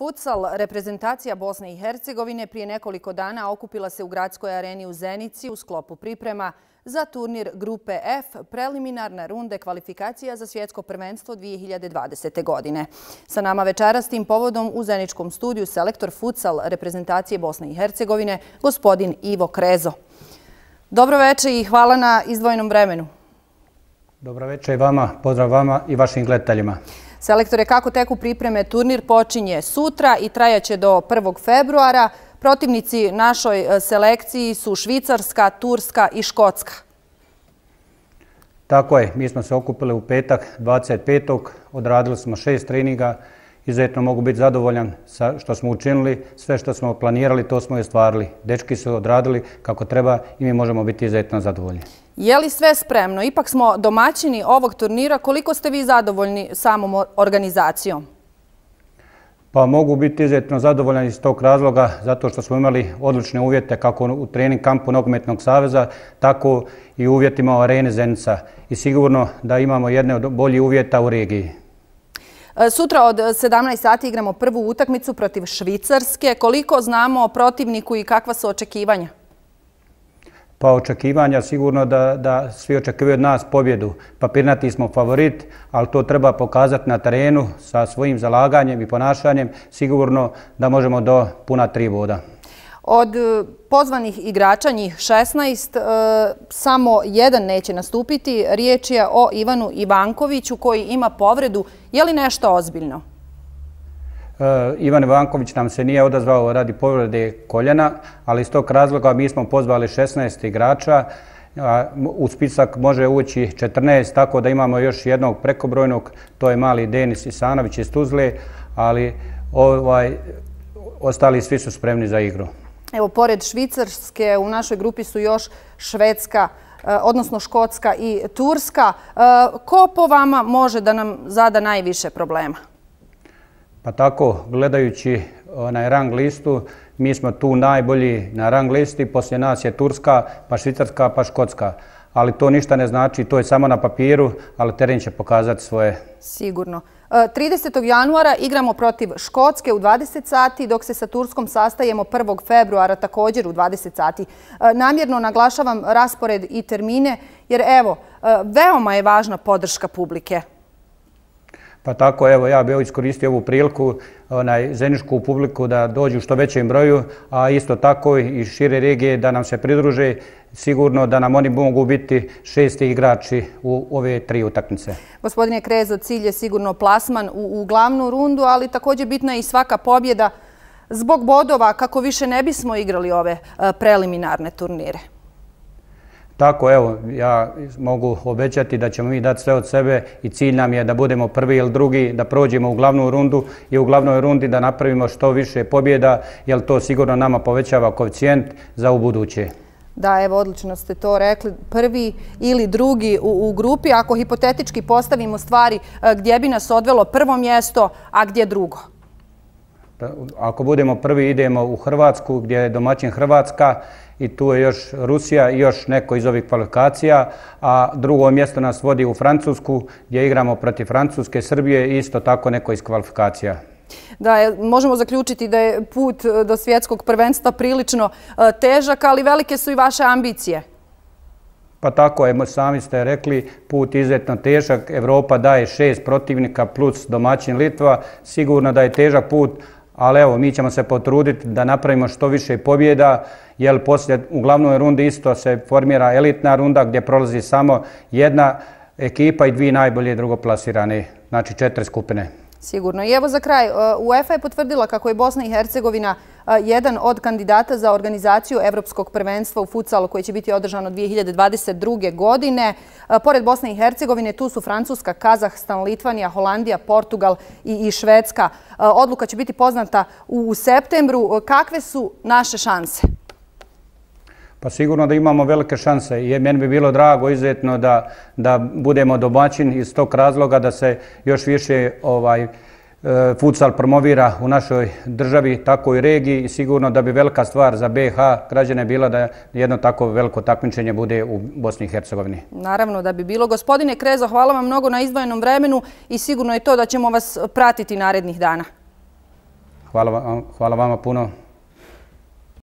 futsal, reprezentacija Bosne i Hercegovine prije nekoliko dana okupila se u gradskoj areni u Zenici u sklopu priprema za turnir Grupe F, preliminarne runde kvalifikacija za svjetsko prvenstvo 2020. godine. Sa nama večeras tim povodom u Zeničkom studiju selektor futsal reprezentacije Bosne i Hercegovine, gospodin Ivo Krezo. Dobro večer i hvala na izdvojenom vremenu. Dobro večer i vama, pozdrav vama i vašim gledateljima. Selektore, kako teku pripreme? Turnir počinje sutra i trajaće do 1. februara. Protivnici našoj selekciji su Švicarska, Turska i Škotska. Tako je, mi smo se okupili u petak 25. Odradili smo 6 treninga. Izuzetno mogu biti zadovoljan sa što smo učinili. Sve što smo planirali, to smo i ostvarili. Dečki su odradili kako treba i mi možemo biti izuzetno zadovoljni. Je li sve spremno? Ipak smo domaćini ovog turnira. Koliko ste vi zadovoljni samom organizacijom? Pa mogu biti izuzetno zadovoljan iz tog razloga zato što smo imali odlične uvjete kako u trening kampu Nogometnog saveza, tako i u uvjetima u areni Zenica. I sigurno da imamo jedne od boljih uvjeta u regiji. Sutra od 17 sati igramo prvu utakmicu protiv Švicarske. Koliko znamo o protivniku i kakva su očekivanja? Pa očekivanja sigurno da svi očekuju od nas pobjedu. Papirnati smo favorit, ali to treba pokazati na terenu sa svojim zalaganjem i ponašanjem. Sigurno da možemo do puna 3 boda. Od pozvanih igrača, njih 16, samo jedan neće nastupiti. Riječ je o Ivanu Ivankoviću koji ima povredu. Je li nešto ozbiljno? Ivan Ivanković nam se nije odazvao radi povrede koljena, ali iz tog razloga mi smo pozvali 16 igrača. U spisak može ući 14, tako da imamo još jednog prekobrojnog, to je mali Denis Isanović iz Tuzle, ali ostali svi su spremni za igru. Evo, pored Švicarske u našoj grupi su još Švedska, odnosno Škotska i Turska. Ko po vama može da nam zada najviše problema? Pa tako, gledajući rang listu, mi smo tu najbolji na rang listi, poslije nas je Turska, pa Švicarska, pa Škotska. Ali to ništa ne znači, to je samo na papiru, ali teren će pokazati svoje. Sigurno. 30. januara igramo protiv Škotske u 20 sati, dok se sa Turskom sastajemo 1. februara također u 20 sati. Namjerno naglašavam raspored i termine, jer evo, veoma je važna podrška publike. Pa tako, evo, ja bih iskoristio ovu priliku, zeničku publiku da dođu u što većem broju, a isto tako i šire regije da nam se pridruže. Sigurno da nam oni mogu biti 6. igrači u ove 3 utakmice. Gospodine Krezo, cilj je sigurno plasman u glavnu rundu, ali također bitna je i svaka pobjeda zbog bodova kako više ne bismo igrali ove preliminarne turnire. Tako, evo, ja mogu obećati da ćemo mi dati sve od sebe i cilj nam je da budemo prvi ili drugi, da prođemo u glavnu rundu i u glavnoj rundi da napravimo što više pobjeda, jer to sigurno nama povećava koeficijent za ubuduće. Da, evo, odlično ste to rekli. Prvi ili drugi u grupi, ako hipotetički postavimo stvari, gdje bi nas odvelo prvo mjesto, a gdje drugo? Ako budemo prvi, idemo u Hrvatsku, gdje je domaćin Hrvatska, i tu je još Rusija i još neko iz ovih kvalifikacija, a drugo mjesto nas vodi u Francusku, gdje igramo protiv Francuske, Srbije i isto tako neko iz kvalifikacija. Da, možemo zaključiti da je put do svjetskog prvenstva prilično težak, ali velike su i vaše ambicije. Pa tako je, sami ste rekli, put izuzetno težak. Evropa daje 6 protivnika plus domaćin Litva. Sigurno da je težak put, ali evo, mi ćemo se potruditi da napravimo što više pobjeda, jer poslije u glavnoj rundi isto se formira elitna runda gdje prolazi samo jedna ekipa i 2 najbolje drugoplasirane, znači 4 skupine. Sigurno. I evo za kraj, UEFA je potvrdila kako je Bosna i Hercegovina jedan od kandidata za organizaciju Evropskog prvenstva u futsalu koji će biti održano 2022. godine. Pored Bosne i Hercegovine tu su Francuska, Kazahstan, Litvanija, Holandija, Portugal i Švedska. Odluka će biti poznata u septembru. Kakve su naše šanse? Pa sigurno da imamo velike šanse i meni bi bilo drago izuzetno da budemo domaćin iz tog razloga da se još više futsal promovira u našoj državi, tako i regiji i sigurno da bi velika stvar za BiH građane bila da jedno tako veliko takmičenje bude u Bosni i Hercegovini. Naravno da bi bilo. Gospodine Krezo, hvala vam mnogo na izdvojenom vremenu i sigurno je to da ćemo vas pratiti narednih dana. Hvala vama puno.